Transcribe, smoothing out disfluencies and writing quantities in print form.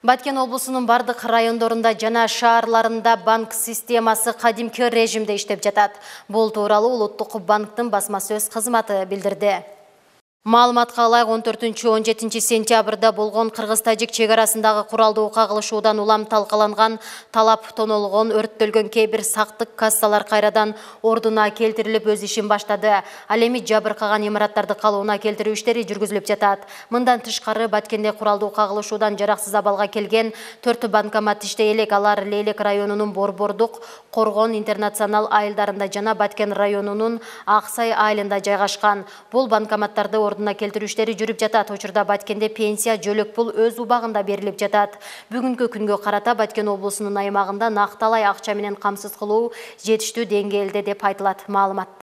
Баткен облусунун бардык райондорунда жана шаарларында банк системасы кадимки режимде иштеп жатат. Бул тууралуу Улуттук банктын басма-сөз кызматы билдирди. Маалыматка ылайык 14-17 сентябрда болгон Кыргыз-Тажик чек арасындагы куралдуу кагылышуудан улам талкаланган талап тонолгон, өрттөлгөн кээ бир сактык кассалар кайрадан ордуна келтирилип өз ишин баштады. Ал эми жабыркаган имараттарды калыбына келтирүү иштери жүргүзүлүп жатат. Мындан тышкары Баткенде куралдуу кагылышуудан жараксыз абалга келген 4 банкомат иштей элек. Алар Лейлек районунун Борбордук, Коргон интернационал айылдарында жана Баткен районунун Аксай айылында жайгашкан. Бул банкоматтарды ордуна келтирүү иштери жүрүп жатат. Учурда Баткенде пенсия жөлөк пул өз убагында берилип жатат. Бүгүнкү күнгө карата Баткен облусунун аймагында накталай акча менен камсыз кылуу жетиштүү деңгээлде деп айтылат маалыматта.